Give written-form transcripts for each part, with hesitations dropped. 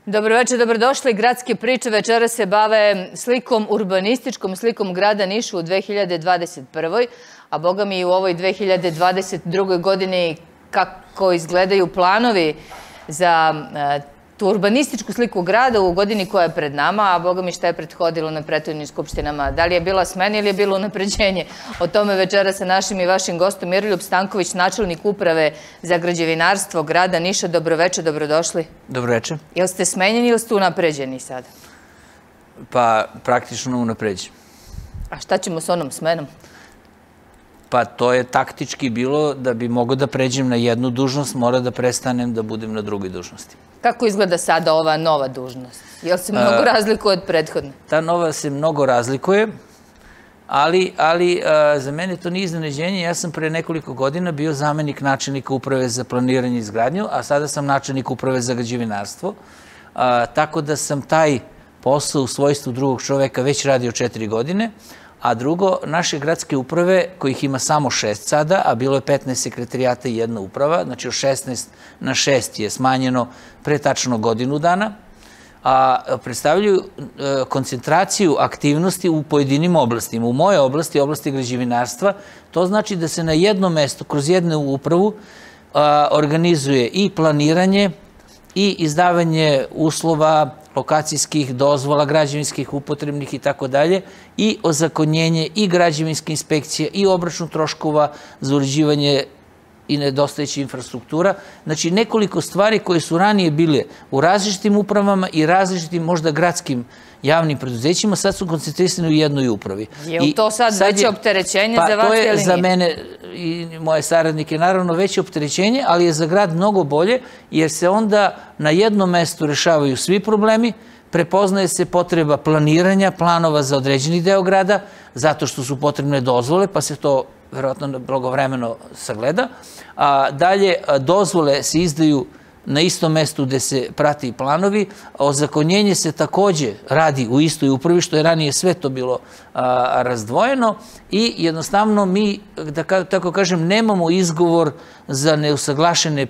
Dobroveče, dobrodošli. Gradske priče večeras se bave slikom, urbanističkom slikom grada Niša u 2021. A boga mi i u ovoj 2022. godini kako izgledaju planovi za tu urbanističku sliku grada u godini koja je pred nama, a boga mi šta je prethodilo na prethodnim skupštinama. Da li je bila smena ili je bilo unapređenje? O tome večera sa našim i vašim gostom Miroljub Stanković, načelnik uprave za građevinarstvo grada Niša. Dobroveče, dobrodošli. Dobroveče. Jel ste smenjeni ili ste unapređeni sada? Pa praktično unapređen. A šta ćemo s onom smenom? Pa to je taktički bilo da bi mogao da pređem na jednu dužnost, mora da prestanem da budem na drugoj dužnosti. Kako izgleda sada ova nova dužnost? Jel se mnogo razlikuje od prethodne? Ta nova se mnogo razlikuje, ali za mene to nije iznenađenje. Ja sam pre nekoliko godina bio zamenik načelnika uprave za planiranje i izgradnju, a sada sam načelnik uprave za građevinarstvo. Tako da sam taj posao u svojstvu drugog čoveka već radio 4 godine, a drugo, naše gradske uprave, kojih ima samo 6 sada, a bilo je 15 sekretarijata i jedna uprava, znači od 16 na 6 je smanjeno pre tačno godinu dana, a predstavljaju koncentraciju aktivnosti u pojedinim oblastima. U moje oblasti, oblasti građevinarstva, to znači da se na jednom mestu, kroz jednu upravu, organizuje i planiranje i izdavanje uslova, lokacijskih dozvola, građevinskih, upotrebnih i tako dalje, i ozakonjenje i građevinske inspekcije i obračun troškova za uređivanje i nedostajeća infrastruktura. Znači, nekoliko stvari koje su ranije bile u različitim upravama i različitim možda gradskim javnim preduzećima, sad su koncentrisani u jednoj upravi. Je li to sad veće opterećenje za vas ili nije? Pa to je za mene i moje saradnike naravno veće opterećenje, ali je za grad mnogo bolje, jer se onda na jednom mestu rešavaju svi problemi, prepoznaje se potreba planiranja, planova za određeni deo grada, zato što su potrebne dozvole, pa se to verovatno blagovremeno sagleda. Dalje, dozvole se izdaju na istom mestu gde se prati i planovi. Ozakonjenje se takođe radi u istoj upravi, što je ranije sve to bilo razdvojeno, i jednostavno mi, da tako kažem, nemamo izgovor za neusaglašene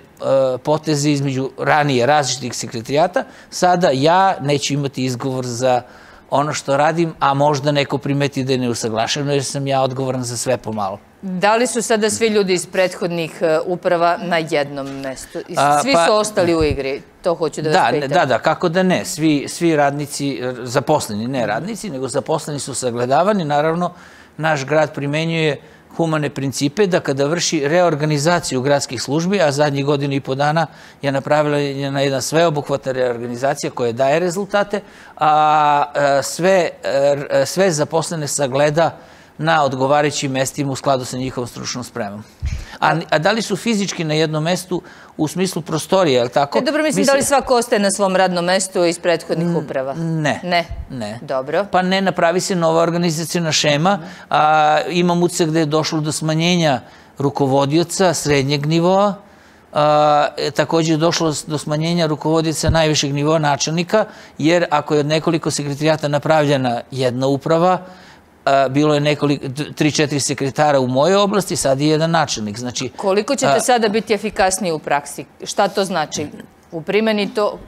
poteze između ranije različitih sekretarijata. Sada ja neću imati izgovor za ono što radim, a možda neko primeti da je neusaglašeno, jer sam ja odgovoran za sve pomalo. Da li su sada svi ljudi iz prethodnih uprava na jednom mestu? Svi su ostali u igri, to hoću da vas pitam. Da, kako da ne. Svi radnici, zaposleni, ne radnici, nego zaposleni su sagledavani. Naravno, naš grad primenjuje humane principe da kada vrši reorganizaciju gradskih službi, a zadnjih godinu i po dana je napravila jedna sveobuhvatna reorganizacija koja daje rezultate, a sve zaposlene sagleda na odgovarajućim mestima u skladu sa njihovom stručnom spremom. A da li su fizički na jednom mestu u smislu prostorije, je li tako? Dobro, mislim, da li svako ostaje na svom radnom mestu iz prethodnih uprava? Ne. Dobro. Pa ne, napravi se nova organizacijona šema. Imam utisak da je došlo do smanjenja rukovodioca srednjeg nivoa. Također je došlo do smanjenja rukovodioca najvišeg nivoa načelnika, jer ako je od nekoliko sekretarijata napravljena jedna uprava, bilo je 3-4 sekretara u mojoj oblasti, sad je jedan načelnik. Koliko ćete sada biti efikasniji u praksi? Šta to znači? U primjeni to,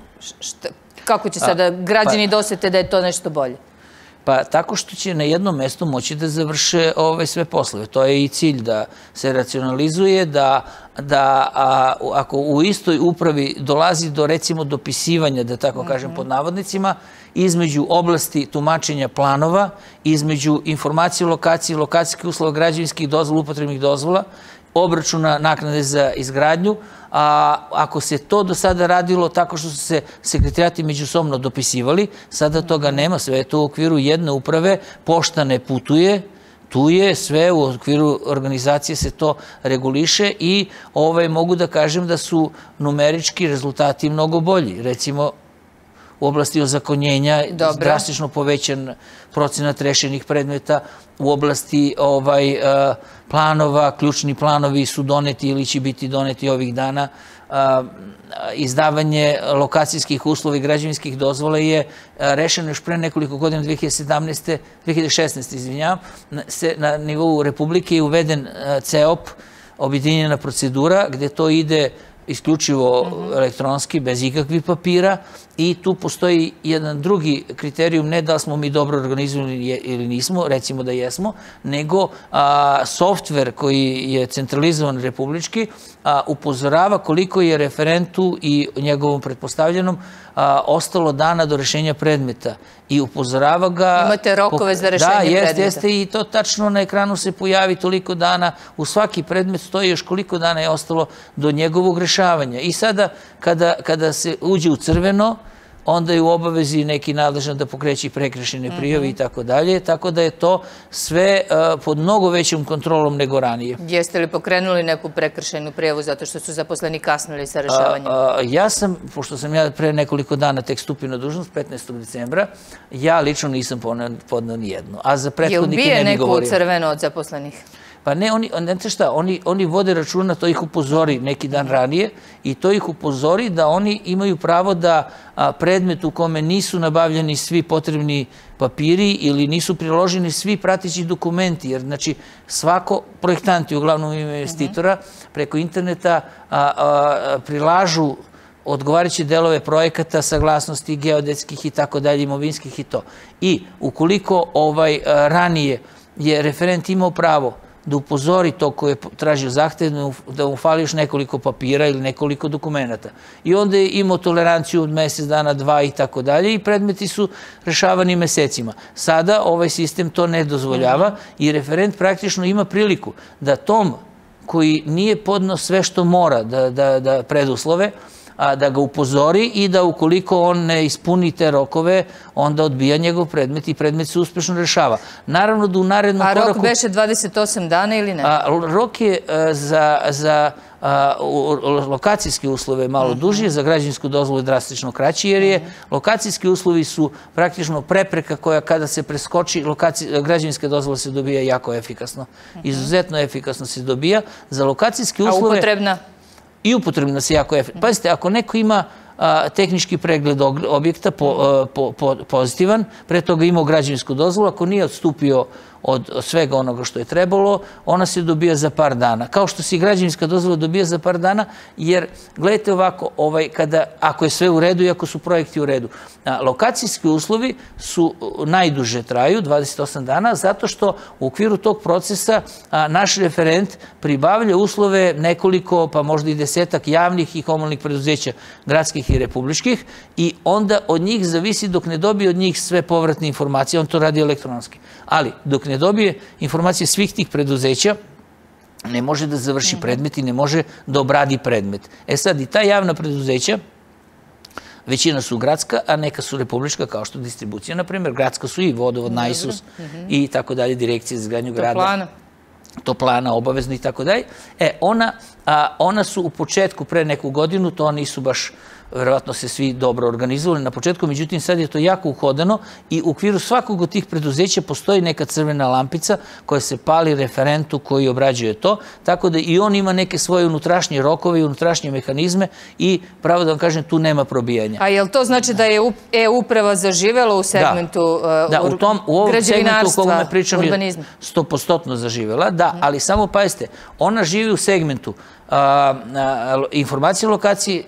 kako će sada građani dosete da je to nešto bolje? Pa tako što će na jednom mestu moći da završe sve poslove. To je i cilj, da se racionalizuje, da ako u istoj upravi dolazi do, recimo, dopisivanja, da tako kažem pod navodnicima, između oblasti tumačenja planova, između informacije o lokaciji, lokacijskih uslova, građevinskih dozvola, upotrebnih dozvola, obračuna naknade za izgradnju, a ako se to do sada radilo tako što su se sekretarijati međusobno dopisivali, sada toga nema, sve je to u okviru jedne uprave, pošta ne putuje, tu je sve u okviru organizacije se to reguliše i mogu da kažem da su numerički rezultati mnogo bolji. Recimo, u oblasti ozakonjenja drastično povećan procenat rešenih predmeta, u oblasti planova, ključni planovi su doneti ili će biti doneti ovih dana. Izdavanje lokacijskih uslova i građevinskih dozvola je rešeno još pre nekoliko godina, 2016. izvinjavam, na nivou Republike je uveden CEOP, objedinjena procedura, gde to ide isključivo elektronski, bez ikakvih papira, i tu postoji jedan drugi kriterijum, ne da smo mi dobro organizovani ili nismo, recimo da jesmo, nego softver koji je centralizovan republički upozorava koliko je referentu i njegovom pretpostavljenom ostalo dana do rešenja predmeta i upozorava ga... Imate rokove za rešenje predmeta. Da, jeste, i to tačno na ekranu se pojavi toliko dana, u svaki predmet stoji još koliko dana je ostalo do njegovog rešavanja. I sada, kada se uđe u crveno, onda je u obavezi neki nadležan da pokreće prekršajne prijave i tako dalje, tako da je to sve pod mnogo većom kontrolom nego ranije. Jeste li pokrenuli neku prekršajnu prijavu zato što su zaposleni kasnili sa rešavanjem? Ja sam, pošto sam ja pre nekoliko dana tek stupio na dužnost, 15. decembra, ja lično nisam podneo ni jednu. A za prethodnike ne bi govorio. Je ubije neko u crveno od zaposlenih? Pa ne, znate šta, oni vode računa, to ih upozori neki dan ranije i to ih upozori da oni imaju pravo da predmet u kome nisu nabavljeni svi potrebni papiri ili nisu priloženi svi prateći dokumenti, jer znači svako projektanti, uglavnom investitora, preko interneta prilažu odgovarajuće delove projekata, saglasnosti geodetskih i tako dalje, imovinskih i to. I ukoliko ranije je referent imao pravo da upozori to koje je tražio zahtev, da mu fali još nekoliko papira ili nekoliko dokumenta. I onda je imao toleranciju od mesec dana, 2 i tako dalje i predmeti su rešavani mesecima. Sada ovaj sistem to ne dozvoljava i referent praktično ima priliku da tom koji nije podneo sve što mora da preduslove, da ga upozori i da ukoliko on ne ispuni te rokove, onda odbija njegov predmet i predmet se uspešno rešava. Naravno da u narednom koraku... A rok beše 28 dana ili ne? Rok je za lokacijske uslove malo duži, za građevinsku dozvolu je drastično kraći, jer je lokacijski uslovi su praktično prepreka koja kada se preskoči, građevinska dozvola se dobija jako efikasno. Izuzetno efikasno se dobija. Za lokacijske uslove... A upotrebna? I upotrebna se jako efikasno. Pazite, ako neko ima tehnički pregled objekta pozitivan, pre toga imao građevinsku dozvolu, ako nije odstupio od svega onoga što je trebalo, ona se dobija za par dana. Kao što se i građevinska dozvola dobija za par dana, jer gledajte ovako, ako je sve u redu i ako su projekti u redu. Lokacijski uslovi su najduže traju, 28 dana, zato što u okviru tog procesa naš referent pribavlja uslove nekoliko, pa možda i 10-ak javnih i komunalnih preduzeća, gradskih i republičkih, i onda od njih zavisi dok ne dobije od njih sve povratne informacije, on to radi elektronski. Ali dok ne dobije informacije svih tih preduzeća, ne može da završi predmet i ne može da obradi predmet. E sad, i ta javna preduzeća, većina su gradska, a neka su republička, kao što distribucija, na primjer, gradska su i vodovod, najsus i tako dalje, direkcije za izgradnju grada. Toplana, obavezno i tako dalje. Ona su u početku, pre neku godinu, to nisu baš, verovatno se svi dobro organizovali na početku, međutim sad je to jako uhodano i u okviru svakog od tih preduzeća postoji neka crvena lampica koja se pali referentu koji obrađuje to, tako da i on ima neke svoje unutrašnje rokove i unutrašnje mehanizme i pravo da vam kažem, tu nema probijanja. A je li to znači da je e-uprava zaživela u segmentu građevinarstva, urbanizma? 100% zaživela, da, ali samo pazite, ona živi u segmentu informacije lokacije.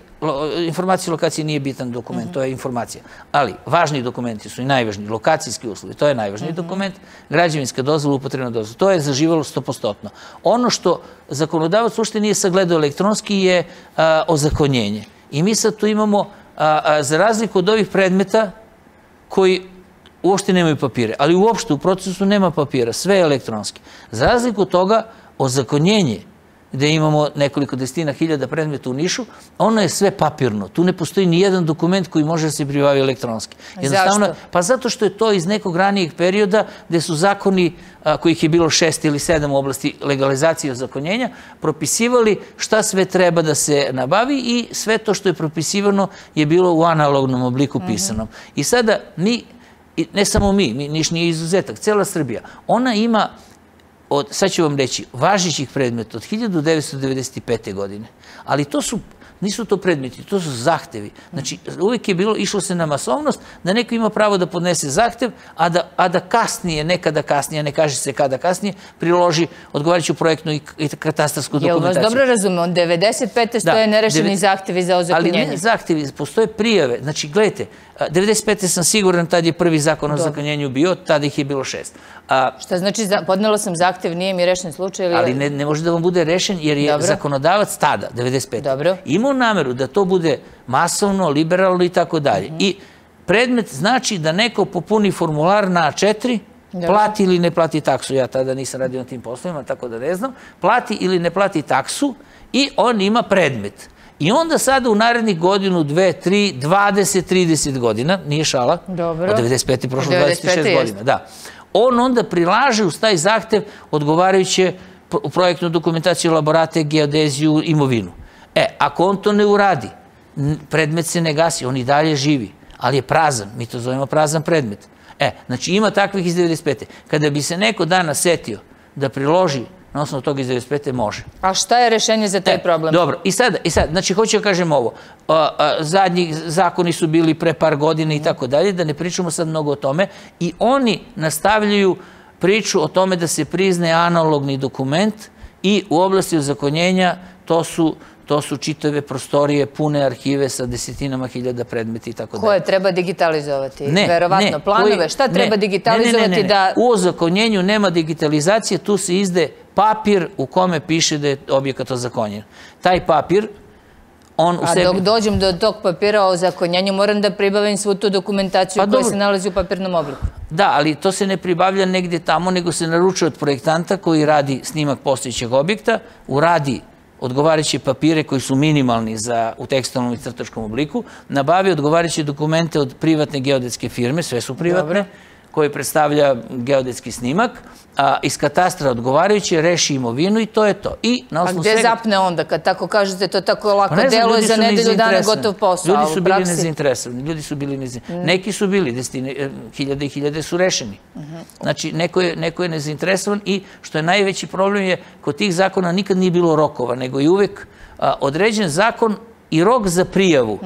Informacija lokacije nije bitan dokument, to je informacija. Ali važni dokumenti su i najvažniji, lokacijski uslovi, to je najvažniji dokument, građevinska dozvola, upotrebna dozvola, to je zaživalo 100%. Ono što zakonodavac uopšte nije sagledao elektronski je ozakonjenje. I mi sad tu imamo, za razliku od ovih predmeta koji uopšte nemaju papire, ali uopšte u procesu nema papira, sve je elektronski. Za razliku od toga, ozakonjenje, gde imamo nekoliko desetina hiljada predmeta u Nišu, ono je sve papirno. Tu ne postoji ni jedan dokument koji može da se pribavi elektronski. Zašto? Pa zato što je to iz nekog ranijeg perioda gde su zakoni, kojih je bilo 6 ili 7 u oblasti legalizacije i ozakonjenja, propisivali šta sve treba da se nabavi i sve to što je propisivano je bilo u analognom obliku pisanom. I sada mi, ne samo mi, Niš nije izuzetak, cela Srbija, ona ima, sad ću vam reći, važećih predmeta od 1995. godine. Ali to su, nisu to predmeti, to su zahtevi. Znači, uvijek je bilo, išlo se na masovnost, da neko ima pravo da podnese zahtev, a da kasnije, nekada kasnije, ne kaže se kada kasnije, priloži odgovarajuću projektnu i katastarsku dokumentaciju. Jel vas dobro razumem, od 95. stoje nerešeni zahtevi za ozakonjenje? Ali ne zahtevi, postoje prijave. Znači, gledajte, 95. sam siguran, tad je prvi zakon o ozakonjenju bio, tada ih je bilo 6. Šta znači, podnela sam zahtev, nije mi rešen slučaj? Ali ne može da vam bude rešen, jer je zakonodavac tada, 95. imao nameru da to bude masovno, liberalno i tako dalje. I predmet znači da neko popuni formular na A4, plati ili ne plati taksu. Ja tada nisam radio na tim poslovima, tako da ne znam. Plati ili ne plati taksu i on ima predmet. I onda sada u narednih godinu, 2, 3, 20, 30 godina, nije šala, od 95. prošlo 26 godina, da. On onda prilaže uz taj zahtev odgovarajuće projektnu dokumentaciju, laborate, geodeziju, imovinu. Ako on to ne uradi, predmet se ne gasi, on i dalje živi, ali je prazan, mi to zovemo prazan predmet. Znači ima takvih iz 95. Kada bi se neko danas setio da priloži na osnovu toga iz 95. može. A šta je rešenje za taj problem? Dobro, i sad, znači hoću da kažem ovo, zadnji zakoni su bili pre par godina i tako dalje, da ne pričamo sad mnogo o tome, i oni nastavljaju priču o tome da se prizne analogni dokument i u oblasti ozakonjenja to su čitave prostorije, pune arhive sa desetinama hiljada predmeta i tako dalje. Koje treba digitalizovati? Verovatno planove. Šta treba digitalizovati da... U ozakonjenju nema digitalizacije, tu se izde papir u kome piše da je objekat ozakonjen. Taj papir, on u sebi... A dok dođem do tog papira o ozakonjenju, moram da pribavim svu tu dokumentaciju koja se nalazi u papirnom obliku. Da, ali to se ne pribavlja negdje tamo, nego se naručuje od projektanta koji radi snimak postojećeg objekta, uradi odgovarajuće papire koji su minimalni u tekstilnom i crtačkom obliku, nabavi odgovarajuće dokumente od privatne geodetske firme, sve su privatne, koji predstavlja geodetski snimak, iz katastra odgovarajuće, reši imovinu i to je to. A gde zapne onda, kad tako kažete, to tako lako deluje za nedelju dana gotov posao? Ljudi su bili nezainteresovani, neki su bili, hiljade i hiljade su rešeni. Znači, neko je nezainteresovan i što je najveći problem je, kod tih zakona nikad nije bilo rokova, nego je uvek određen zakon i rok za prijavu.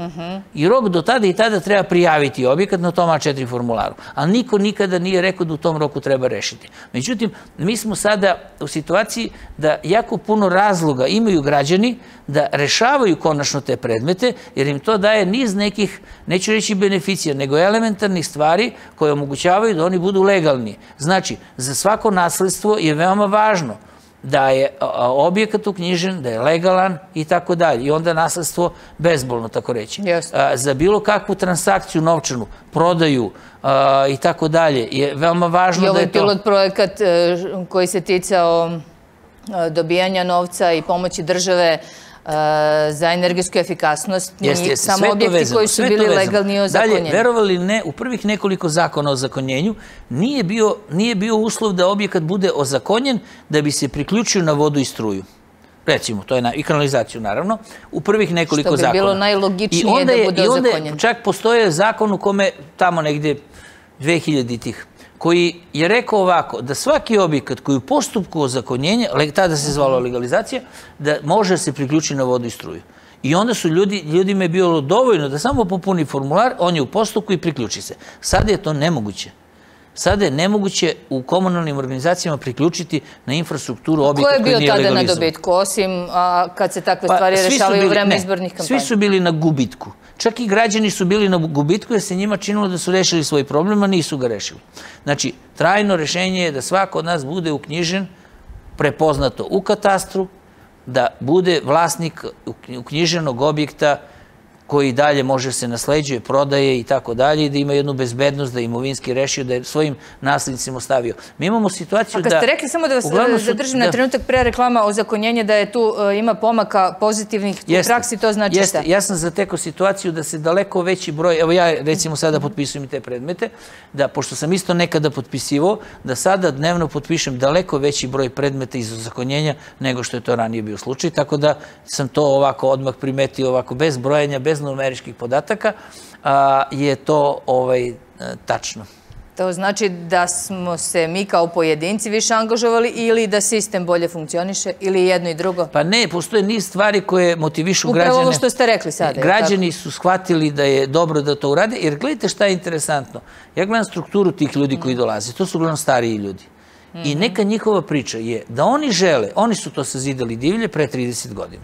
I rok do tada i tada treba prijaviti objekat na tom A4 formularu. Ali niko nikada nije rekao da u tom roku treba rešiti. Međutim, mi smo sada u situaciji da jako puno razloga imaju građani da rešavaju konačno te predmete, jer im to daje niz nekih, neću reći beneficija, nego elementarnih stvari koje omogućavaju da oni budu legalni. Znači, za svako nasledstvo je veoma važno da je objekat uknjižen, da je legalan i tako dalje. I onda nasledstvo bezbolno, tako reći. Za bilo kakvu transakciju novčanu, prodaju i tako dalje, je veoma važno da je to... I ovaj pilot projekat koji se ticao dobijanja novca i pomoći države za energetsku efikasnost, samo objekti koji su bili legalni i ozakonjeni. Dalje, verovali ne, u prvih nekoliko zakona o ozakonjenju nije bio uslov da objekat bude ozakonjen da bi se priključio na vodu i struju. Recimo, to je i kanalizaciju, naravno, u prvih nekoliko zakona. Što bi bilo najlogičnije da bude ozakonjen. I onda čak postoje zakon u kome tamo negde 2000-ih, koji je rekao ovako, da svaki objekat koji u postupku ozakonjenja, tada se zvala legalizacija, da može se priključiti na vodu i struju. I onda su ljudima je bilo dovoljno da samo popuni formular, on je u postupku i priključi se. Sada je to nemoguće. Sada je nemoguće u komunalnim organizacijama priključiti na infrastrukturu objekat koji nije legalizovan. Ko je bio tada na dobitku, osim kad se takve stvari rešavaju u vreme izbornih kampanja? Svi su bili na gubitku. Čak i građani su bili na gubitku jer se njima činilo da su rešili svoj problem, a nisu ga rešili. Znači, trajno rešenje je da svako od nas bude uknjižen, prepoznato u katastru, da bude vlasnik uknjiženog objekta koji dalje može se nasleđuje, prodaje i tako dalje, i da ima jednu bezbednost, da je imovinski rešio, da je svojim naslednicima ostavio. Mi imamo situaciju da... A kad ste rekli, samo da vas zadržim na trenutak pre reklama o zakonjenje, da je tu ima pomaka pozitivnih u praksi, to znači šta? Ja sam zatekao situaciju da se daleko veći broj, evo ja recimo sada potpisujem i te predmete, da pošto sam isto nekada potpisivao, da sada dnevno potpišem daleko veći broj predmeta iz zakonjenja nego što je to ranije bio slučaj, tako da sam to ovako odmah primetio, ovako bez brojanja, bez numeričkih podataka, je to tačno. To znači da smo se mi kao pojedinci više angažovali ili da sistem bolje funkcioniše ili jedno i drugo? Pa ne, postoje niz stvari koje motivišu građane. Upravo ovo što ste rekli sada. Građani su shvatili da je dobro da to urade, jer gledajte šta je interesantno. Ja gledam strukturu tih ljudi koji dolaze. To su uglavnom stariji ljudi. I neka njihova priča je da oni žele, oni su to sazidali divlje pre 30 godina.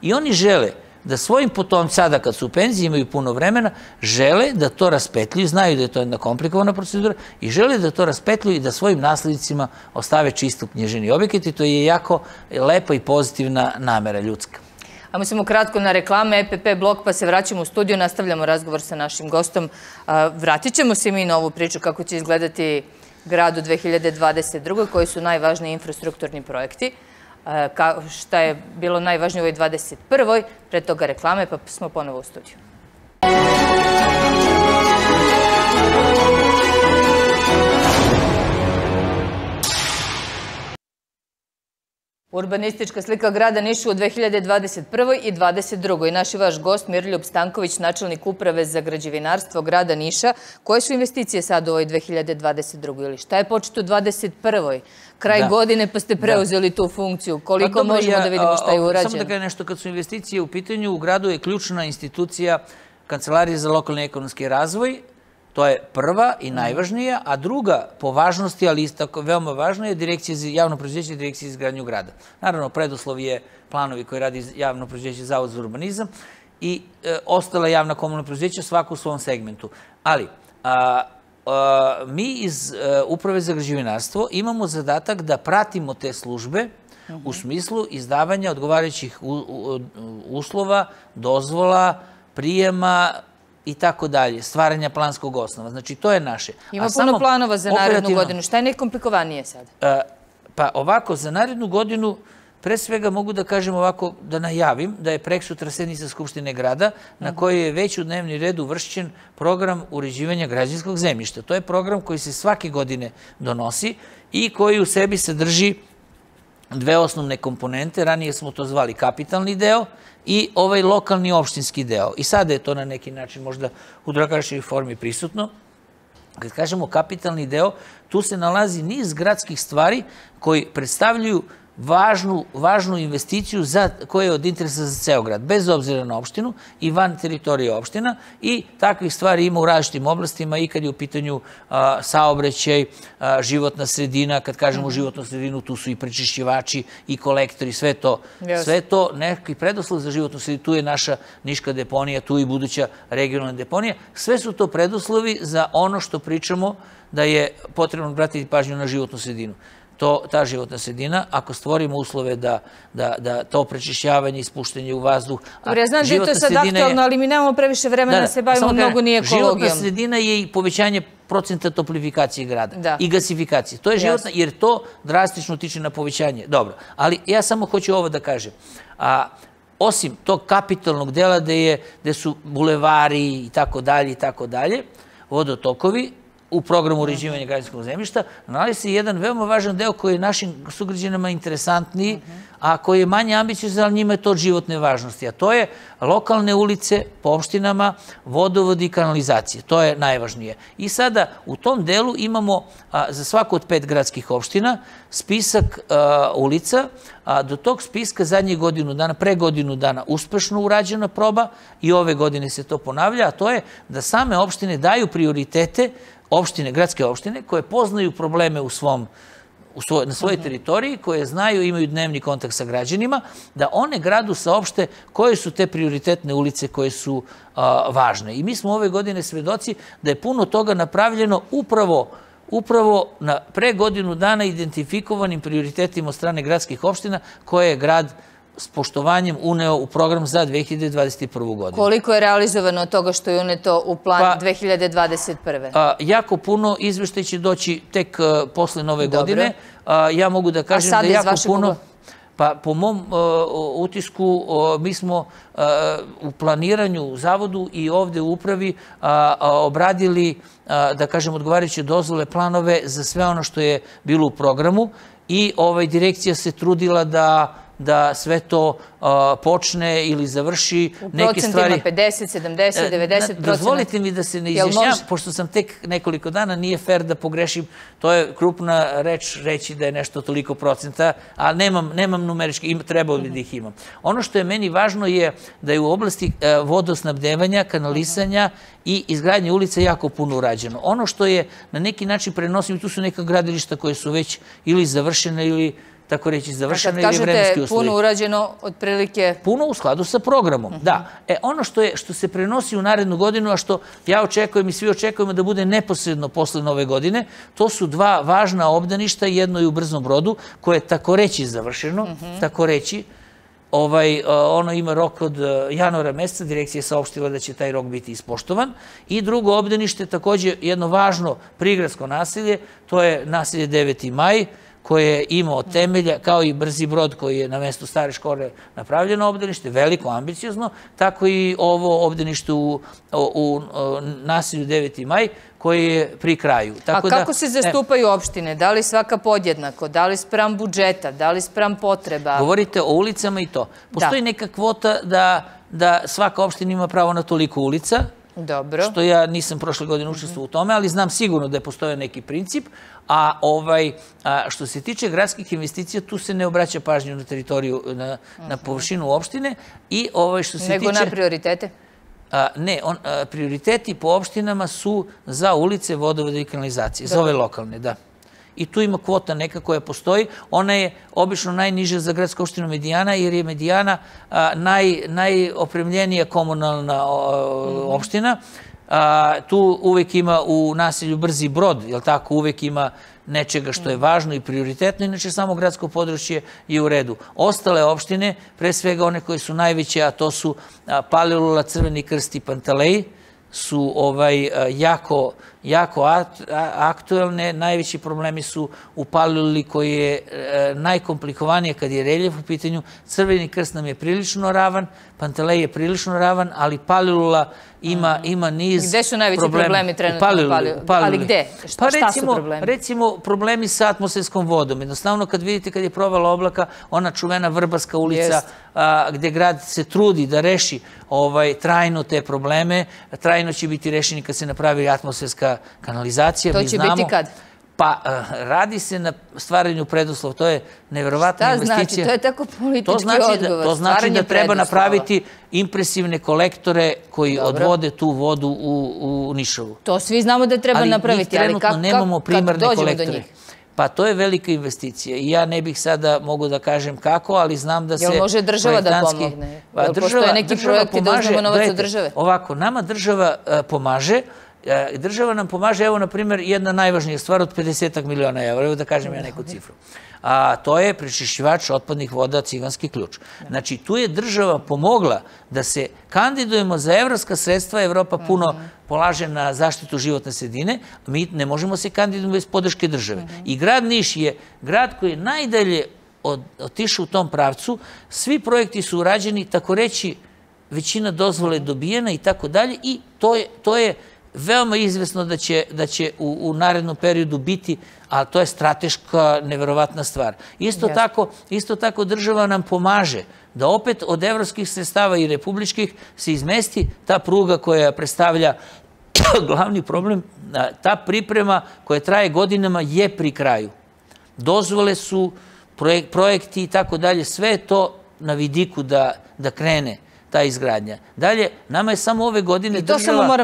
I oni žele da svojim potomcima, sada kad su u penziji, imaju puno vremena, žele da to raspetljuju, znaju da je to jedna komplikovana procedura i žele da to raspetljuju i da svojim naslednicima ostave čisto knjiženi objekat i to je jako lepa i pozitivna namera ljudska. A mi smo kratko na reklame, EPP blok, pa se vraćamo u studiju, nastavljamo razgovor sa našim gostom. Vratit ćemo se mi na ovu priču kako će izgledati grad u 2022. koji su najvažniji infrastrukturni projekti. Šta je bilo najvažnije u ovoj 21. Pre toga reklame, pa smo ponovo u studiju. Urbanistička slika grada Niša u 2021. i 2022. Naš i vaš gost Miroljub Stanković, načelnik uprave za građevinarstvo grada Niša. Koje su investicije sad u ovoj 2022. ili šta je početo u 2021. Kraj godine pa ste preuzeli tu funkciju. Koliko možemo da vidimo šta je urađeno? Samo da kažem nešto, kad su investicije u pitanju, u gradu je ključna institucija Kancelarije za lokalni ekonomski razvoj. To je prva i najvažnija, a druga po važnosti, ali isto tako veoma važna, je Direkcija za javno preduzeće i Direkcija za izgradnju grada. Naravno, preduslov je planovi koje radi javno preduzeće Zavod za urbanizam i ostala javna komunalna preduzeća svako u svom segmentu. Ali, mi iz Uprave za građevinarstvo imamo zadatak da pratimo te službe u smislu izdavanja odgovarajućih uslova, dozvola, prijema i tako dalje, stvaranja planskog osnova. Znači, to je naše. Ima puno planova za narednu godinu. Šta je najkomplikovanije sad? Pa ovako, za narednu godinu, pre svega mogu da kažem ovako, da najavim da je preksutra sednica Skupštine grada na kojoj je već u dnevni red uvršćen program uređivanja građevinskog zemljišta. To je program koji se svake godine donosi i koji u sebi sadrži dve osnovne komponente. Ranije smo to zvali kapitalni deo i ovaj lokalni opštinski deo. I sada je to na neki način možda u drugačijoj formi prisutno. Kad kažemo kapitalni deo, tu se nalazi niz gradskih stvari koji predstavljaju važnu investiciju koja je od interesa za ceo grad, bez obzira na opštinu i van teritorije opština, i takvih stvari ima u različitim oblastima i kad je u pitanju saobraćaj, životna sredina. Kad kažemo životnu sredinu, tu su i prečišćivači i kolektori, sve to neki preduslov za životnu sredinu. Tu je naša niška deponija, tu i buduća regionalna deponija. Sve su to preduslovi za ono što pričamo da je potrebno obratiti pažnju na životnu sredinu. Ta životna sredina, ako stvorimo uslove da to prečišćavanje, ispuštanje u vazduh... Dobro, ja znam da je to sad aktualno, ali mi nemamo previše vremena da se bavimo mnogo ni ekologijom. Životna sredina je i povećanje procenta toplifikacije grada i gasifikacije. To je životna, jer to drastično utiče na povećanje. Dobro, ali ja samo hoću ovo da kažem. Osim tog kapitalnog dela gde su bulevari i tako dalje, vodotokovi, u programu uređivanja građevinskog zemljišta, nalazi se jedan veoma važan deo koji je našim sugrađanima interesantniji, a koji je manje ambiciozan, ali njima je to od životne važnosti. A to je lokalne ulice po opštinama, vodovod i kanalizacije. To je najvažnije. I sada u tom delu imamo za svaku od 5 gradskih opština spisak ulica. Do tog spiska zadnjih godinu dana, pre godinu dana, uspešno urađena proba i ove godine se to ponavlja, a to je da same opštine daju prioritete gradske opštine koje poznaju probleme na svojoj teritoriji, koje znaju, imaju dnevni kontakt sa građanima, da one gradu saopšte koje su te prioritetne ulice koje su važne. I mi smo ove godine svedoci da je puno toga napravljeno upravo pre godinu dana identifikovanim prioritetima od strane gradskih opština koje je grad s poštovanjem uneo u program za 2021. godinu. Koliko je realizovano od toga što je uneto u plan 2021. Jako puno. Izveštaj će doći tek posle nove godine. Ja mogu da kažem da je jako puno. Pa po mom utisku mi smo u planiranju u Zavodu i ovde u upravi obradili, da kažem, odgovarajuće dozvole, planove za sve ono što je bilo u programu i direkcija se trudila da da sve to počne ili završi neke stvari. U procentima 50, 70, 90%. Dozvolite mi da se ne izjašnjam, pošto sam tek nekoliko dana, nije fair da pogrešim, to je krupna reč reći da je nešto toliko procenta, a nemam numerički, trebao bi da ih imam. Ono što je meni važno je da je u oblasti vodosnabdevanja, kanalisanja i izgradnje ulica jako puno urađeno. Ono što je na neki način prenosim, tu su neka gradilišta koje su već ili završene ili tako reći završene ili vremenski uslovi. Kad kažete puno urađeno, otprilike... Puno u skladu sa programom, da. Ono što se prenosi u narednu godinu, a što ja očekujem i svi očekujemo da bude neposredno posle nove godine, to su dva važna obdaništa, jedno je u Brzom Brodu, koje je tako reći završeno, tako reći. Ono ima rok od januara meseca, direkcija je saopštila da će taj rok biti ispoštovan. I drugo obdanište, takođe jedno važno prigradsko naselje, to je naselje 9. maj, koje je imao temelja, kao i Brzi Brod koji je na mestu stare škole napravljeno obdanište, veliko, ambiciozno, tako i ovo obdanište u naselju 9. maj, koji je pri kraju. A kako se zastupaju opštine? Da li svaka podjednako? Da li spram budžeta? Da li spram potreba? Govorite o ulicama i to. Postoji neka kvota da svaka opština ima pravo na toliko ulica, što ja nisam prošle godine učestvovao u tome, ali znam sigurno da je postojao neki princip, a što se tiče gradskih investicija, tu se ne obraća pažnju na teritoriju, na površinu opštine. Nego na prioritete? Ne, prioriteti po opštinama su za ulice, vodovode i kanalizacije, za ove lokalne, da. I tu ima kvota neka koja postoji. Ona je obično najniža za gradsku opštinu Medijana, jer je Medijana najopremljenija komunalna opština. Tu uvek ima u naselju Brzi Brod, jel tako, uvek ima nečega što je važno i prioritetno, inače samo gradsko područje je u redu. Ostale opštine, pre svega one koje su najveće, a to su Palilula, Crveni Krst i Pantelej, su jako aktuelne. Najveći problemi su u Paliluli koji je najkomplikovanije kad je reljef u pitanju. Crveni Krst nam je prilično ravan, Pantelej je prilično ravan, ali Palilula ima niz problema. Gde su najveći problemi trenutno u Paliluli? Ali gde? Šta su problemi? Recimo, problemi sa atmosferskom vodom. Jednostavno, kad vidite kad je provala oblaka, ona čuvena Vrbaska ulica, gde grad se trudi da reši trajno te probleme, trajno će biti rešeni kad se napravi atmosferska kanalizacija. To će biti kad? Pa, radi se na stvaranju preduslova. To je neverovatna investicija. Šta znači? To je tako politički odgovor. To znači da treba napraviti impresivne kolektore koji odvode tu vodu u Nišovu. To svi znamo da treba napraviti, ali trenutno nemamo primarne kolektore. Pa to je velika investicija i ja ne bih sada mogu da kažem kako, ali znam da se... Jel može država da pomogne? Jel postoje neki projekti da uzmemo novac od države? Ovako, nama država pomaže. Država nam pomaže, evo, na primjer, jedna najvažnija stvar od 50 miliona evra, evo da kažem ja neku cifru. A to je prečišćivač otpadnih voda Ciganski ključ. Znači, tu je država pomogla da se kandidujemo za evropska sredstva. Evropa puno polaže na zaštitu životne sredine. Mi ne možemo se kandidujemo bez podrške države. I grad Niš je grad koji je najdalje otišao u tom pravcu. Svi projekti su urađeni, tako reći, većina dozvole je dobijena i tako dalje. I to je veoma izvesno da će u narednom periodu biti, a to je strateška, neverovatna stvar. Isto tako država nam pomaže da opet od evropskih sredstava i republičkih se izmesti ta pruga koja predstavlja glavni problem. Ta priprema koja traje godinama je pri kraju. Dozvole su, projekti i tako dalje, sve je to na vidiku da krene ta izgradnja. Dalje, nama je samo ove godine država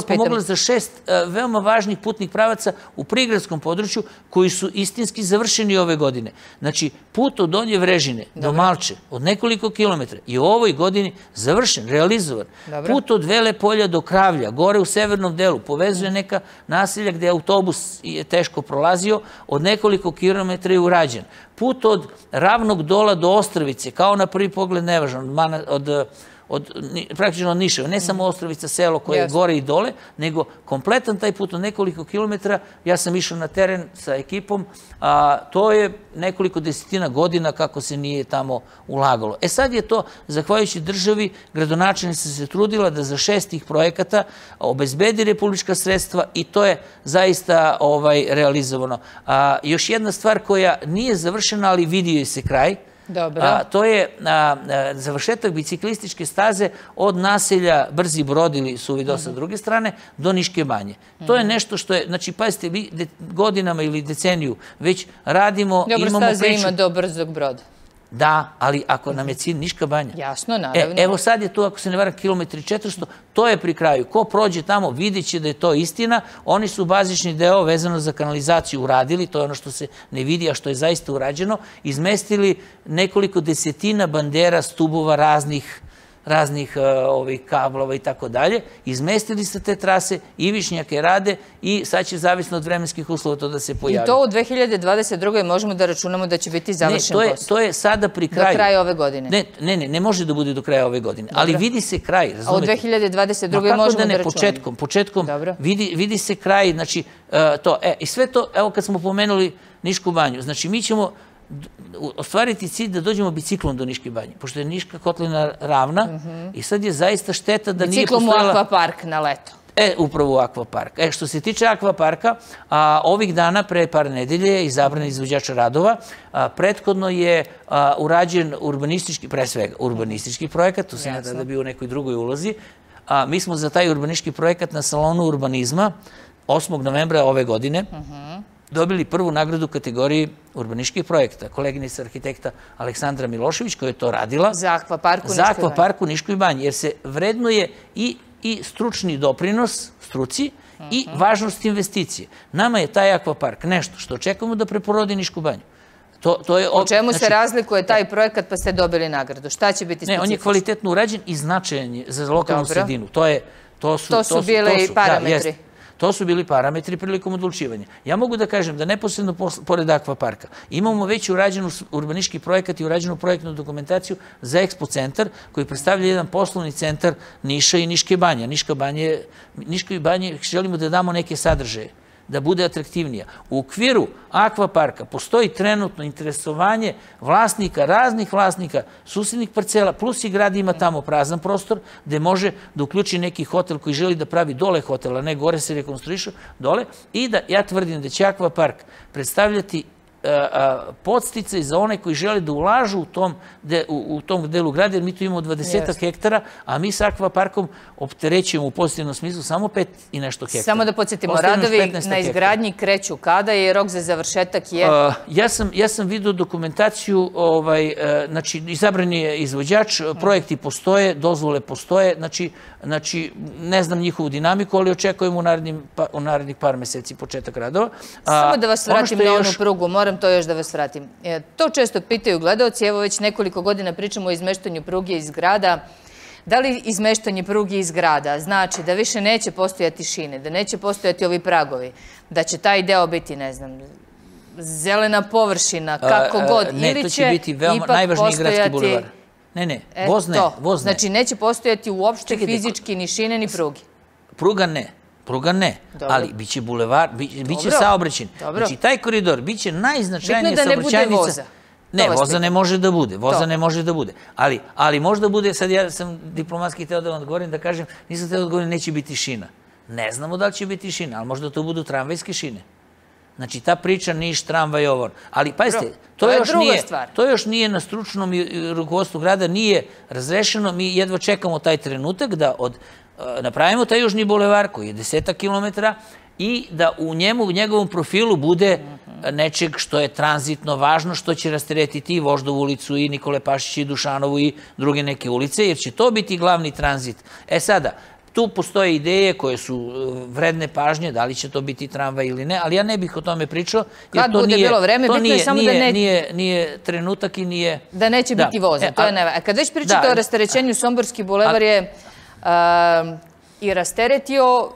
pomogla za 6 veoma važnih putnih pravaca u prigradskom području koji su istinski završeni ove godine. Znači, put od Donje Vrežine do Malče od nekoliko kilometra je u ovoj godini završen, realizovan. Put od Vele Polja do Kravlja, gore u severnom delu, povezuje neka naselja gde autobus je teško prolazio, od nekoliko kilometra je urađen. Put od Ravnog Dola do Ostravice, kao na prvi pogled nevažan, praktično od Niševa, ne samo Ostravica, selo koje je gore i dole, nego kompletan taj put od nekoliko kilometara. Ja sam išao na teren sa ekipom, a to je nekoliko desetina godina kako se nije tamo ulagalo. Sad je to, zahvaljujući državi, gradonačelnica se trudila da za 6 tih projekata obezbedi republička sredstva i to je zaista realizovano. Još jedna stvar koja nije završena, ali vidio je se kraj, To je završetak biciklističke staze od naselja Brzi Brod ili Suvidol sa druge strane do Niške banje. To je nešto što je, znači, pazite, vi godinama ili deceniju već radimo, imamo priču. Dobro, staza ima do Brzog Broda. Da, ali ako nam je cilj Niška banja. Jasno, naravno. Evo sad je tu, ako se ne varam, kilometri 400, to je pri kraju. Ko prođe tamo, vidjet će da je to istina. Oni su bazični deo vezano za kanalizaciju uradili, to je ono što se ne vidi, a što je zaista urađeno. Izmestili nekoliko desetina bandera, stubova raznih kablova i tako dalje. Izmestili ste te trase, ivičnjake rade i sad će zavisno od vremenskih uslova to da se pojavi. I to u 2022. možemo da računamo da će biti završen posao? To je sada pri kraju. Do kraja ove godine? Ne može da bude do kraja ove godine, ali vidi se kraj, razumete? A u 2022. možemo da računamo? Početkom vidi se kraj, znači to. I sve to, evo kad smo pomenuli Nišku banju, znači mi ćemo ostvariti cilj da dođemo biciklom do Niške banje, pošto je Niška kotlina ravna i sad je zaista šteta da nije postojala... Biciklom u akvapark na leto. Upravo u akvapark. Što se tiče akvaparka, ovih dana, pre par nedelje, je izabran izvođač radova. Prethodno je urađen urbanistički, pre svega urbanistički projekat, tu se ne da bi u nekoj drugoj ulozi. Mi smo za taj urbanistički projekat na salonu urbanizma 8. novembra ove godine dobili prvu nagradu u kategoriji urbanističkih projekta. Koleginica arhitekta Aleksandra Milošević, koja je to radila. Za akvapark u Niškoj banji. Jer se vrednuje i stručni doprinos struci i važnost investicije. Nama je taj akvapark nešto što očekujemo da preporodi Nišku banju. U čemu se razlikuje taj projekat pa ste dobili nagradu? Šta će biti specifično? Ne, on je kvalitetno urađen i značajan je za lokalnu sredinu. To su bili parametri. To su bili parametri prilikom odlučivanja. Ja mogu da kažem da neposredno pored akvaparka imamo već urađenu urbanistički projekat i urađenu projektnu dokumentaciju za Expo centar koji predstavlja jedan poslovni centar Niša i Niške banje. Niškoj banji želimo da damo neke sadržaje, da bude atraktivnija. U okviru akvaparka postoji trenutno interesovanje vlasnika, raznih vlasnika, susednih parcela, plus i grad ima tamo prazan prostor gde može da uključi neki hotel koji želi da pravi dole hotela, ne gore se rekonstruišu, dole, i da ja tvrdim da će akvapark predstavljati podsticaj za one koji žele da ulažu u tom delu grada, jer mi tu imamo 20 hektara, a mi sa akvaparkom opterećujemo u pozitivnom smislu samo 5 i nešto hektara. Samo da podsjetimo, radovi na izgradnji kreću kada je rok za završetak je? Ja sam vidio dokumentaciju, znači izabran je izvođač, projekti postoje, dozvole postoje, znači ne znam njihovu dinamiku, ali očekujemo u narednih par meseci početak radova. Samo da vas vratim na onu prugu, moram to još da vas vratim. To često pitaju gledaoci, evo već nekoliko godina pričamo o izmeštanju pruge iz grada. Da li izmeštanje pruge iz grada znači da više neće postojati šine, da neće postojati ovi pragovi, da će taj deo biti, ne znam, zelena površina, kako god, ili će ipak postojati... Ne, voz ne. Znači neće postojati uopšte fizički ni šine ni pruge? Pruga ne, ali biće bulevar, biće saobraćen. Znači taj koridor biće najznačajnija saobraćajnica. Bitno da ne bude voza. Ne, voza ne može da bude. Ali možda bude, sad ja sam diplomatski hteo da vam odgovorim, da kažem, nisam hteo da odgovorim, neće biti šina. Ne znamo da li će biti šina, ali možda to budu tramvajske šine. Znači, ta priča Niš, tramvaj, ovo. Ali, pazite, to još nije na stručnom rukovodstvu grada, nije razrešeno. Mi jedva čekamo taj trenutak da napravimo taj južni bulevar koji je 10 kilometara i da u njegovom profilu bude nečeg što je tranzitno važno, što će rasteretiti i Voždovu ulicu i Nikole Pašića i Dušanovu i druge neke ulice, jer će to biti glavni tranzit. Sada, tu postoje ideje koje su vredne pažnje, da li će to biti tramvaj ili ne, ali ja ne bih o tome pričao, jer to nije trenutak i nije... Da neće biti voza, to je najvažnije. Kad već pričate o rasterećenju, Somborski bulevar je i rasteretio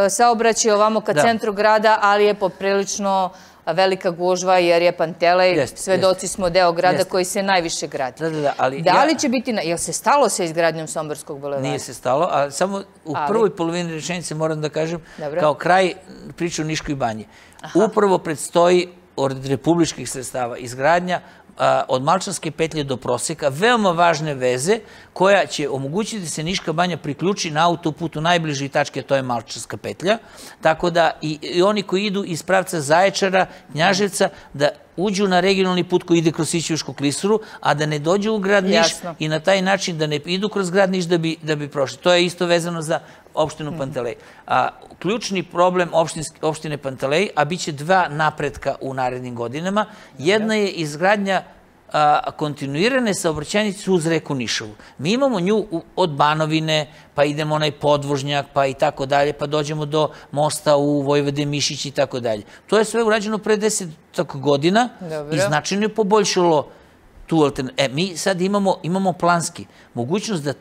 saobraćaj ovamo ka centru grada, ali je poprilično velika gužva jer je Pantelej, svedoci smo deo grada koji se najviše gradi. Da li će biti, je li se stalo sa izgradnjom Somborskog bulevara? Nije se stalo, ali samo u prvoj polovini rečenice moram da kažem, kao kraj priče o Niškoj banji. Upravo predstoji od republičkih sredstava izgradnja od Malčanske petlje do Proseka, veoma važne veze koja će omogućiti da se Niška banja priključi na autoputu najbliži tačke, to je Malčanska petlja, tako da i oni koji idu iz pravca Zaječara, Knjaževca, da uđu na regionalni put koji ide kroz Sićevačku klisuru, a da ne dođu u grad Niš i na taj način da ne idu kroz grad Niš da bi prošli. To je isto vezano za opštinu Pantelej. Ključni problem opštine Pantelej, a bit će dva napretka u narednim godinama, jedna je izgradnja kontinuirane saobraćajnice uz reku Nišovu. Mi imamo nju od Banovine, pa idemo onaj podvožnjak, pa i tako dalje, pa dođemo do mosta u Vojvode Mišić i tako dalje. To je sve urađeno pre 10 godina i značajno je poboljšalo tu alternativu. Mi sad imamo planski mogućnost da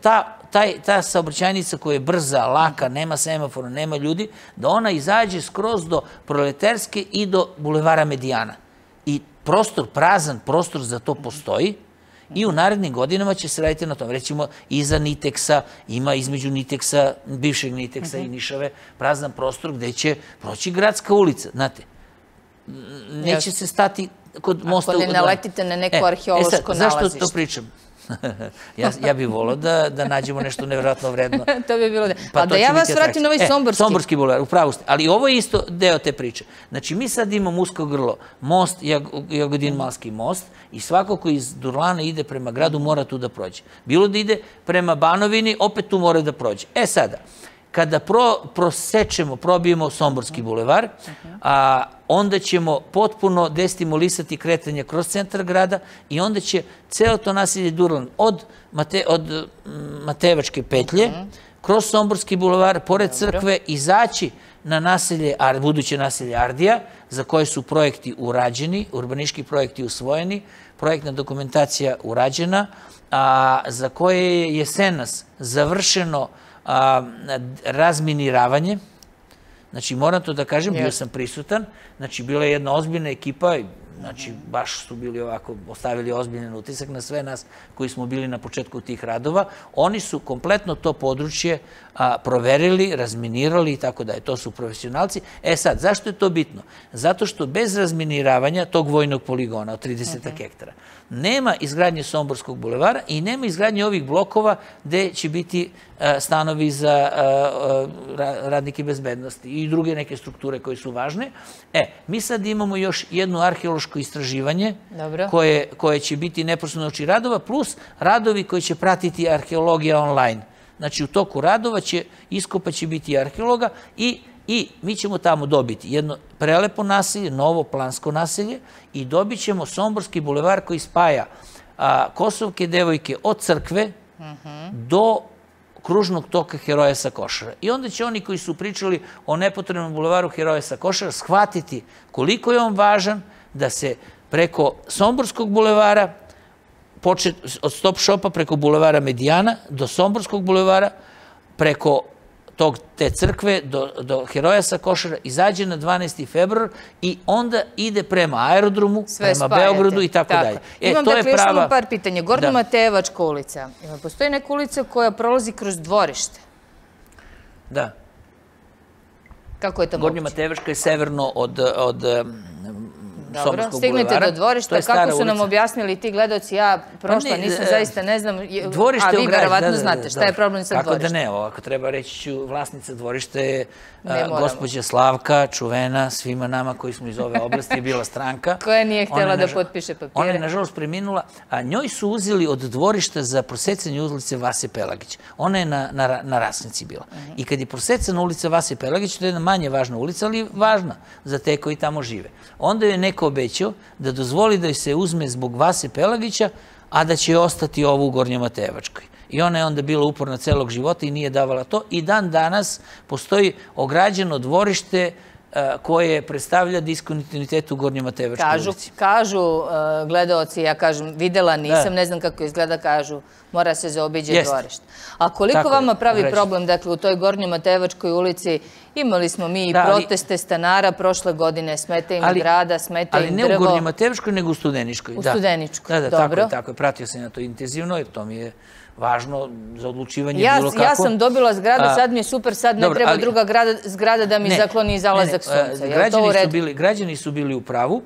ta saobraćajnica koja je brza, laka, nema semafora, nema ljudi, da ona izađe skroz do Proleterske i do Bulevara Medijana. I prostor, prazan prostor za to postoji i u narednim godinama će se raditi na tom. Recimo, iza Niteksa, ima između Niteksa, bivšeg Niteksa i Nišave, prazan prostor gde će proći gradska ulica. Znate, neće se stati kod mosta... Ako ne naletite na neko arheološko nalazište. Zašto to pričam? Ja bih volao da nađemo nešto nevjerojatno vredno. To bi bilo da. A da ja vas vratim na ovaj Somborski. Somborski bulevar, upravo ste. Ali ovo je isto deo te priče. Znači, mi sad imamo usko grlo, most, Jagodin-Malski most, i svako ko iz Durlana ide prema gradu mora tu da prođe. Bilo da ide prema Banovini, opet tu mora da prođe. Sada, kada probijemo Somborski bulevar, onda ćemo potpuno destimulisati kretanje kroz centar grada i onda će celo to naselje Durlan od Matejevačke petlje, kroz Somborski bulevar, pored crkve, izaći na buduće naselje Ardija, za koje su projekti urađeni, urbanistički projekti usvojeni, projektna dokumentacija urađena, za koje je jesenas završeno razminiravanje. Znači, moram to da kažem, bio sam prisutan. Znači, bila je jedna ozbiljna ekipa, znači, baš su bili ovako, ostavili ozbiljan utisak na sve nas koji smo bili na početku tih radova. Oni su kompletno to područje proverili, razminirali i tako dalje. To su profesionalci. Sad, zašto je to bitno? Zato što bez razminiravanja tog vojnog poligona od 30 hektara nema izgradnje Somborskog bulevara i nema izgradnje ovih blokova gde će biti stanovi za radnike bezbednosti i druge neke strukture koje su važne. Mi sad imamo još jedno arheološko istraživanje koje će biti neposredno oči radova, plus radovi koji će pratiti arheologija online. Znači, u toku radova iskopaće biti arheologa i mi ćemo tamo dobiti jedno prelepo naselje, novo plansko naselje i dobit ćemo Somborski bulevar koji spaja Kosovke devojke od crkve do kružnog toka Heroja sa Košara. I onda će oni koji su pričali o nepotrebnom bulevaru Heroja sa Košara shvatiti koliko je on važan da se preko Somborskog bulevara, od stop shopa preko bulevara Medijana do Somborskog bulevara, preko te crkve do Heroja sa Košara, izađe na 12. februar i onda ide prema aerodromu, prema Beogradu i tako dalje. Imam dakle još samo par pitanja. Gornja Matejevačka ulica. Postoji neka ulica koja prolazi kroz dvorište? Da. Kako je to moguće? Gornja Matejevačka je severno od Dobro, stignete do dvorišta. Kako su nam objasnili ti gledaoci? Ja prošla nisam, zaista ne znam, a vi verovatno znate šta je problem sa dvorištem. Kako da ne, ako treba reći ću, vlasnica dvorišta je gospođa Slavka, čuvena, svima nama koji smo iz ove oblasti, je bila stranka. Koja nije htjela da potpiše papire. Ona je, nažalost, preminula, a njoj su uzeli od dvorišta za prosecanje ulice Vase Pelagića. Ona je na Rasnici bila. I kad je prosecana ulica Vase Pelagića, to je jedna manje važna ulica, ali važna za te koji tamo žive. Onda je neko obećao da dozvoli da se uzme zbog Vase Pelagića, a da će ostati ovo u Gornjoj Matejevačkoj. I ona je onda bila uporna celog života i nije davala to. I dan danas postoji ograđeno dvorište koje predstavlja diskontinuitet u Gornjoj Matejevačkoj ulici. Kažu gledaoci, ja kažem, videla nisam, ne znam kako izgleda, kažu, mora se zaobiđe dvorište. A koliko vama pravi problem, dakle, u toj Gornjoj Matejevačkoj ulici, imali smo mi i proteste stanara prošle godine, smeta im grada, smeta im drvo. Ali ne u Gornjoj Matejevačkoj, nego u Studeničkoj. U Studeničkoj, dobro. Tako je, pratio sam na to intenzivno, jer to mi je važno za odlučivanje bilo kako. Ja sam dobila zgradu, sad mi je super, sad ne treba druga zgrada da mi zakloni zalazak sunca. Građani su bili u pravu.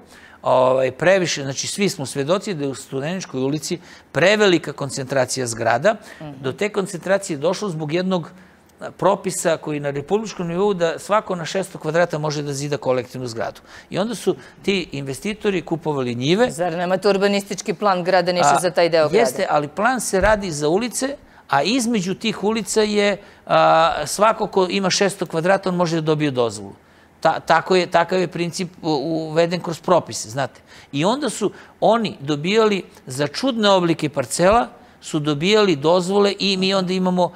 Previše, znači svi smo svedoci da je u Studeničkoj ulici prevelika koncentracija zgrada. Do te koncentracije je došlo zbog jednog propisa koji na republičkom nivou da svako na 600 kvadrata može da zida kolektivnu zgradu. I onda su ti investitori kupovali njive. Zar nemate urbanistički plan grada Niša za taj deo grada? Jeste, ali plan se radi za ulice, a između tih ulica je svako ko ima 600 kvadrata, on može da dobije dozvolu. Takav je princip uveden kroz propise, znate. I onda su oni dobijali za čudne oblike parcela, su dobijali dozvole i mi onda imamo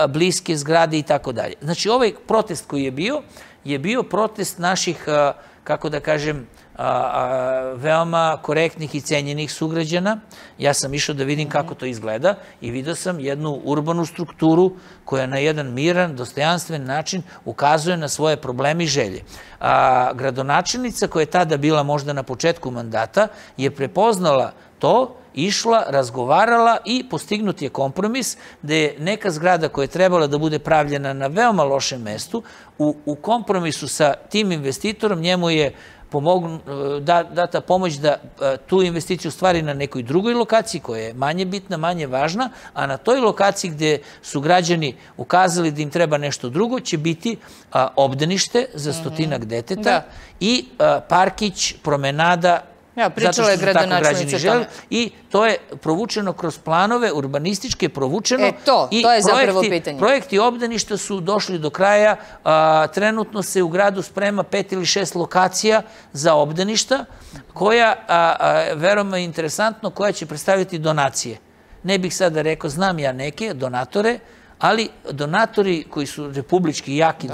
bliske zgrade i tako dalje. Znači, ovaj protest koji je bio protest naših, kako da kažem, veoma korektnih i cenjenih sugrađana. Ja sam išao da vidim kako to izgleda i vidio sam jednu urbanu strukturu koja na jedan miran, dostojanstven način ukazuje na svoje probleme i želje. Gradonačelnica koja je tada bila možda na početku mandata je prepoznala to, išla, razgovarala i postignut je kompromis da je neka zgrada koja je trebala da bude pravljena na veoma lošem mestu, u kompromisu sa tim investitorom njemu je data pomoć da tu investiciju stvari na nekoj drugoj lokaciji koja je manje bitna, manje važna, a na toj lokaciji gde su građani ukazali da im treba nešto drugo će biti obdanište za 100-ak deteta i parkić, promenada. Ja, pričala je gradonačelnica o tome. I to je provučeno kroz planove, urbanističke provučeno. To je zapravo pitanje. Projekti obdaništa su došli do kraja. Trenutno se u gradu sprema 5 ili 6 lokacija za obdaništa, koja, veoma je interesantno, koja će predstaviti donacije. Ne bih sada rekao, znam ja neke donatore, ali donatori koji su republički jaki,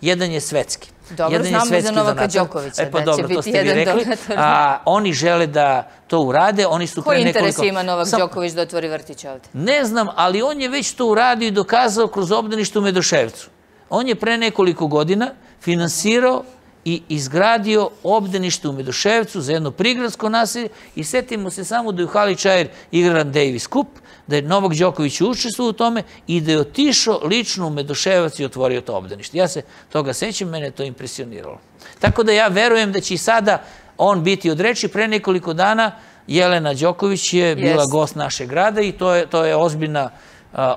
jedan je svetski. Dobro, znamo za Novaka Đokovića da će biti jedan donator. Oni žele da to urade. Koji interes ima Novak Đoković da otvori vrtić ovde? Ne znam, ali on je već to uradio i dokazao kroz obdanište u Medoševcu. On je pre nekoliko godina finansirao i izgradio obdanište u Medoševcu za jedno prigradsko naselje i setimo se samo da je u hali Čair igran Davis Cup, da je Novak Đoković učestvovao u tome i da je otišao lično u Medoševac i otvorio to obdanište. Ja se toga sećam, mene je to impresioniralo. Tako da ja verujem da će i sada on biti od reči. Pre nekoliko dana Jelena Đoković je bila gost našeg grada i to je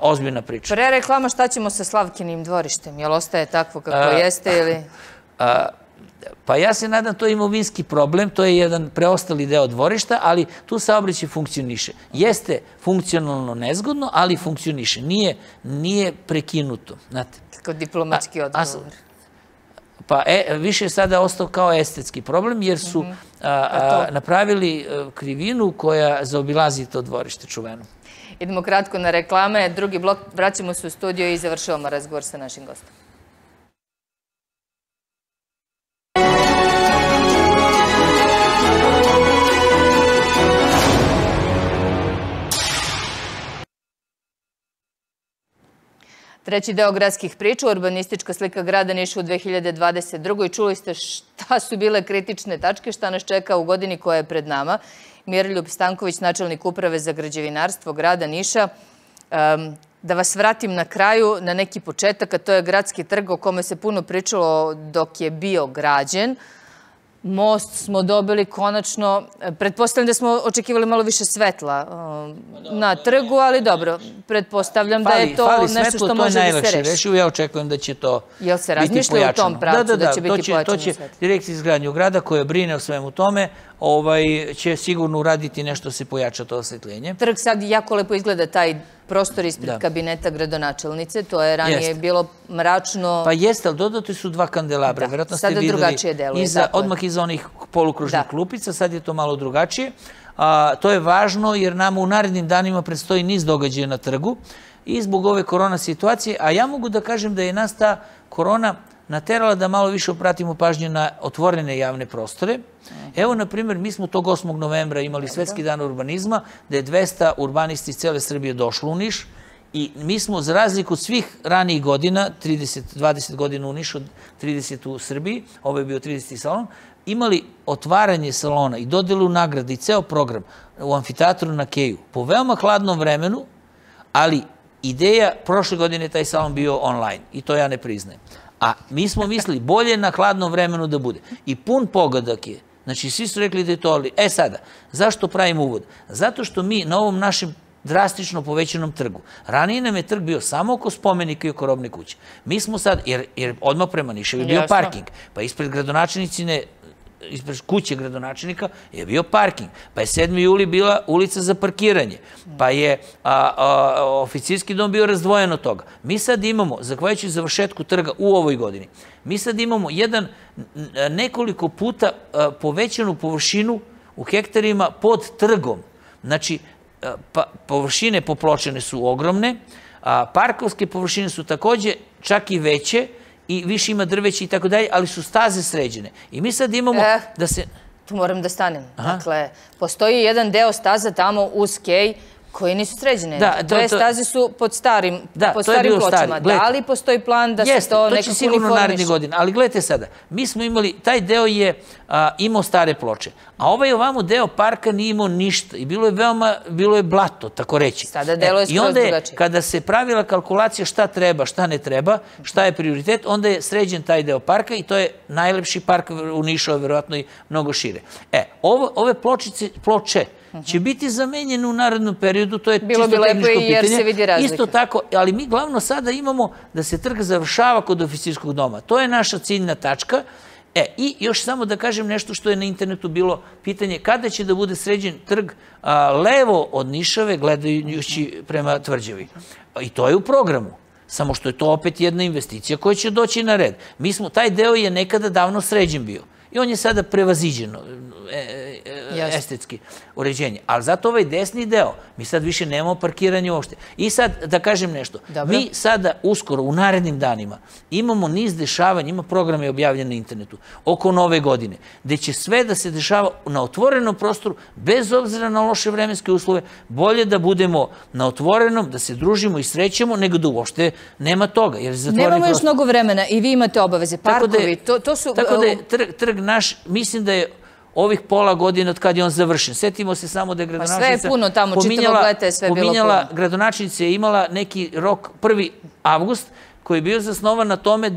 ozbiljna priča. Pre reklama šta ćemo sa Slavkinim dvorištem? Jel ostaje takvo kako jeste ili... Pa ja se nadam, to je imovinski problem, to je jedan preostali deo dvorišta, ali tu saobraćaj funkcioniše. Jeste funkcionalno nezgodno, ali funkcioniše. Nije prekinuto. Kako diplomatski odgovor. Pa više je sada ostao kao estetski problem, jer su napravili krivinu koja zaobilazi to dvorište čuveno. Idemo kratko na reklame. Drugi blok, vraćamo se u studio i završavamo razgovor sa našim gostom. Treći deo gradskih priča, urbanistička slika grada Niša u 2022. Čuli ste šta su bile kritične tačke, šta nas čeka u godini koja je pred nama. Miroljub Stanković, načelnik uprave za građevinarstvo grada Niša. Da vas vratim na kraju na neki početak, a to je Gradski trg o kome se puno pričalo dok je bio građen. Most smo dobili konačno, pretpostavljam da smo očekivali malo više svetla na trgu, ali dobro, pretpostavljam da je to nešto što može da se reši. Ja očekujem da će to biti pojačano. Jel se razmišlja u tom pravcu da će biti pojačano svetlo? Direkcija izgradnje grada koja brine o svemu tome će sigurno uraditi nešto da se pojača to osvetljenje. Trg sad jako lepo izgleda, taj prostor ispred kabineta gradonačelnice, to je ranije bilo mračno. Pa jeste, ali dodato su 2 kandelabra. Sada drugačije deluje. Odmah iza onih polukružnih klupica, sad je to malo drugačije. To je važno jer nama u narednim danima predstoji niz događaja na trgu i zbog ove korona situacije, a ja mogu da kažem da je nas ta korona naterala da malo više obratimo pažnju na otvorene javne prostore. Evo, na primjer, mi smo tog 8. novembra imali Svetski dan urbanizma, da je 200 urbanisti iz cele Srbije došlo u Niš i mi smo, za razliku od svih ranijih godina, 20 godina u Nišu, 30 u Srbiji, ovo je bio 30. salon, imali otvaranje salona i dodelu nagrade i ceo program u amfiteatru na Keju po veoma hladnom vremenu, ali ideja, prošle godine je taj salon bio online i to ja ne priznajem. A mi smo mislili bolje na hladnom vremenu da bude. I pun pogodak je. Znači, svi su rekli da je to ali. Sada, zašto pravimo uvod? Zato što mi na ovom našem drastično povećanom trgu. Ranije nam je trg bio samo oko spomenika i oko robne kuće. Mi smo sad, jer odmah prema Niševu je bio parking, pa ispred gradonačelnicine, ispred kuće gradonačelnika je bio parking, pa je 7. juli bila ulica za parkiranje, pa je oficirski dom bio razdvojen od toga. Mi sad imamo, zahvaljujući završetku trga u ovoj godini, mi sad imamo nekoliko puta povećanu površinu u hektarima pod trgom. Znači, površine popločene su ogromne, parkovske površine su takođe čak i veće i više ima drveća i tako dalje, ali su staze sređene. I mi sad imamo da se... Tu moram da stanem. Dakle, postoji jedan deo staza tamo uz Kej koji nisu sređene. Dve staze su pod starim pločama. Da li postoji plan da se to nekako uniformiš? To će sigurno naredne godine. Ali gledajte sada, mi smo imali, taj deo je imao stare ploče, a ovaj ovamo deo parka nije imao ništa i bilo je blato, tako reći. Sada delo je skroz drugačije. I onda je, kada se pravila kalkulacija šta treba, šta ne treba, šta je prioritet, onda je sređen taj deo parka i to je najlepši park u Nišu, a verovatno i mnogo šire. Ove ploče će biti zamenjene u narednom periodu, to je čisto tehničko pitanje. Isto tako, ali mi glavno sada imamo da se trg završava kod oficirskog doma. To je naša ciljna tačka. I još samo da kažem nešto što je na internetu bilo pitanje, kada će da bude sređen trg levo od Nišave, gledajući prema Tvrđavi. I to je u programu. Samo što je to opet jedna investicija koja će doći na red. Taj deo je nekada davno sređen bio. I on je sada prevaziđeno, estetski uređenje. Ali zato ovaj desni deo, mi sad više nemamo parkiranje uopšte. I sad, da kažem nešto, mi sada uskoro, u narednim danima, imamo niz dešavanja, ima programe objavljene na internetu, oko Nove godine, gde će sve da se dešava na otvorenom prostoru, bez obzira na loše vremenske uslove, bolje da budemo na otvorenom, da se družimo i srećemo, nego da uopšte nema toga. Nemamo još mnogo vremena i vi imate obaveze. Parkovi, to su... Tako da je trg naš, mislim da je ovih pola godina od kada je on završen. Setimo se samo da je gradonačelnica pominjala, gradonačelnica je imala neki rok 1. avgust, koji je bio zasnovan na tome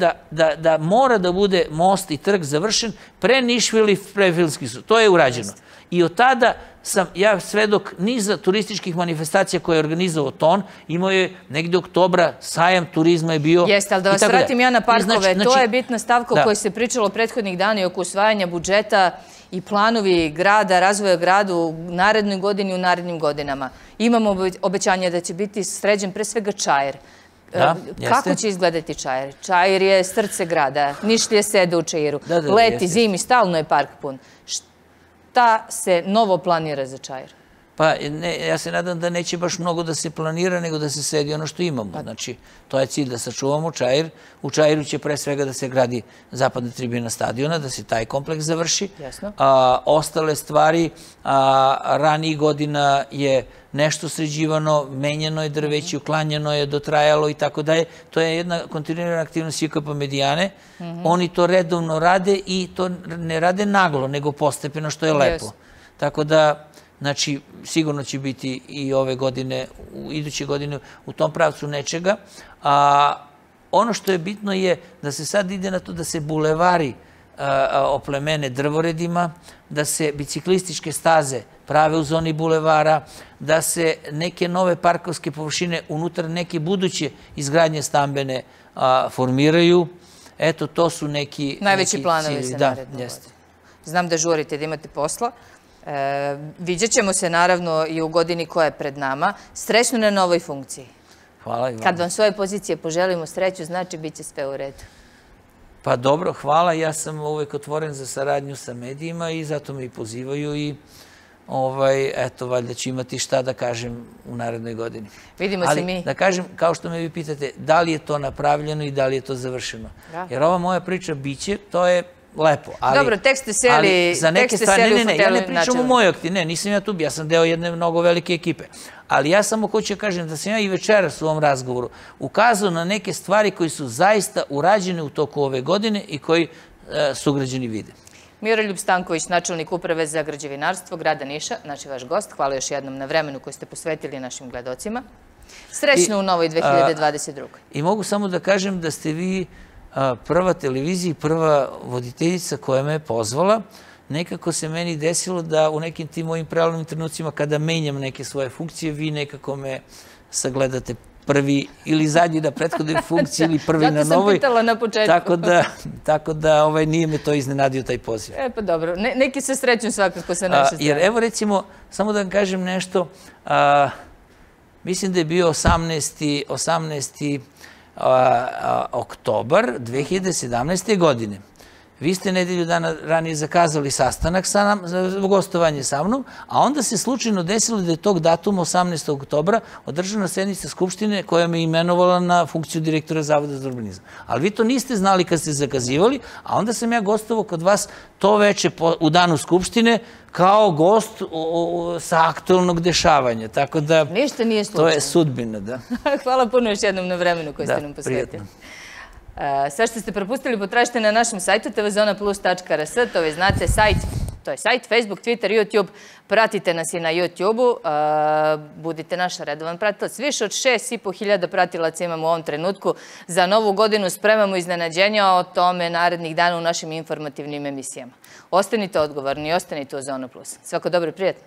da mora da bude most i trg završen pre Nišvili, pre Filmski sud. To je urađeno. I od tada sam ja svedok niza turističkih manifestacija koje je organizovao TON. Imao je negde oktobra, sajam turizma je bio. Jeste, ali da vas vratim ja na parkove. To je bitna stavka o kojoj se pričalo prethodnih dana i oko usvajanja budžeta i planovi grada, razvoja grada u narednoj godini i u narednim godinama. Imamo obećanje da će biti sređen pre svega Čair. Kako će izgledati Čair? Čair je srce grada. Nišlije sede u Čairu. Leti, zimi, stalno je park pun. Šta se novo planira za Čair? Pa ja se nadam da neće baš mnogo da se planira, nego da se sedi ono što imamo. Znači, to je cilj da sačuvamo Čair. U Čairu će pre svega da se gradi zapadna tribina stadiona, da se taj kompleks završi. Ostale stvari, ranijih godina je nešto sređivano, menjeno je drveće, uklanjeno je, dotrajalo i tako dalje. To je jedna kontinuirana aktivnost JKP Medijane. Oni to redovno rade i to ne rade naglo, nego postepeno, što je lepo. Tako da, znači, sigurno će biti i ove godine, iduće godine u tom pravcu nečega. Ono što je bitno je da se sad ide na to da se bulevari oplemene drvoredima, da se biciklističke staze prave u zoni bulevara, da se neke nove parkovske površine unutar neke buduće izgradnje stambene formiraju. Eto, to su neki... Najveći planovi za narednu godinu. Znam da žurite, da imate posla. Vidjet ćemo se naravno i u godini koja je pred nama. Srećno na novoj funkciji. Hvala i vam. Kad vam s ove pozicije poželimo sreću, znači bit će sve u redu. Pa dobro, hvala. Ja sam uvek otvoren za saradnju sa medijima i zato me i pozivaju i eto, valjda ću imati šta da kažem u narednoj godini. Vidimo se mi. Ali da kažem, kao što me vi pitate, da li je to napravljeno i da li je to završeno. Jer ova moja priča biće, to je lepo. Dobro, tek ste seli u fotelu. Ne, ja ne pričam u mojoj akti, ne, nisam ja tu, ja sam deo jedne mnogo velike ekipe. Ali ja samo hoću da kažem da sam ja i večeras u ovom razgovoru ukazao na neke stvari koji su zaista urađene u toku ove godine i koji sugrađani vide. Miroljub Stanković, načelnik Uprave za građevinarstvo grada Niša, naš vaš gost. Hvala još jednom na vremenu koje ste posvetili našim gledocima. Srećno u novoj 2022. I mogu samo da kažem da ste vi prva televizija i prva voditeljica koja me je pozvala nekako se meni desilo da u nekim tim mojim prelomnim trenucima kada menjam neke svoje funkcije, vi nekako me sagledate prvi ili zadnji na prethodnoj funkciji ili prvi na novoj. Zato sam pitala na početku. Tako da nije me to iznenadio taj poziv. Pa dobro, neki se sreću svakako sa naše strane. Jer evo recimo, samo da vam kažem nešto, mislim da je bio 18. oktobar 2017. godine. Vi ste nedelju dana ranije zakazali sastanak za gostovanje sa mnom, a onda se slučajno desilo da je tog datuma, 18. oktobra, održana sednica Skupštine koja me imenovala na funkciju direktora Zavoda za urbanizam. Ali vi to niste znali kad ste zakazivali, a onda sam ja gostovao kod vas to veče u danu Skupštine kao gost sa aktualnog dešavanja. Tako da... Ništa nije slučajno. To je sudbina, da. Hvala puno još jednom na vremenu koje ste nam posvetili. Sve što ste propustili potražite na našem sajtu tvzonaplus.rs, to vi znate, to je sajt, Facebook, Twitter, YouTube, pratite nas i na YouTube-u, budite naš redovan pratilac. Više od 6.500 pratilaca imamo u ovom trenutku. Za novu godinu spremamo iznenađenja, o tome narednih dana u našim informativnim emisijama. Ostanite odgovorni i ostanite u Zona Plus. Svako dobro i prijatno.